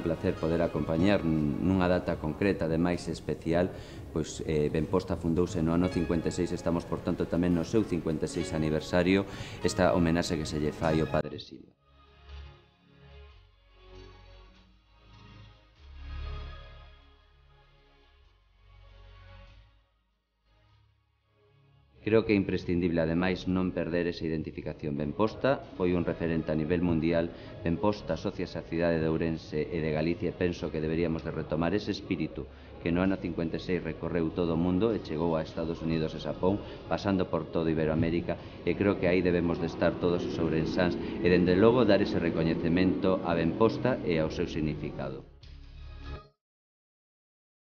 placer poder acompañar nunha data concreta, ademais especial, pois Benposta fundouse no ano 56, estamos, por tanto, tamén no seu 56 aniversario, esta homenaxe que se lle fai ao Padre Silva. Creo que é imprescindible, ademais, non perder esa identificación. Benposta foi un referente a nivel mundial. Benposta asóciase á cidade de Ourense e de Galicia e penso que deberíamos de retomar ese espírito que no ano 56 recorreu todo o mundo e chegou a Estados Unidos e Xapón, pasando por toda Iberoamérica, e creo que aí debemos de estar todos os ourensáns e, dende logo, dar ese recoñecemento a Benposta e ao seu significado.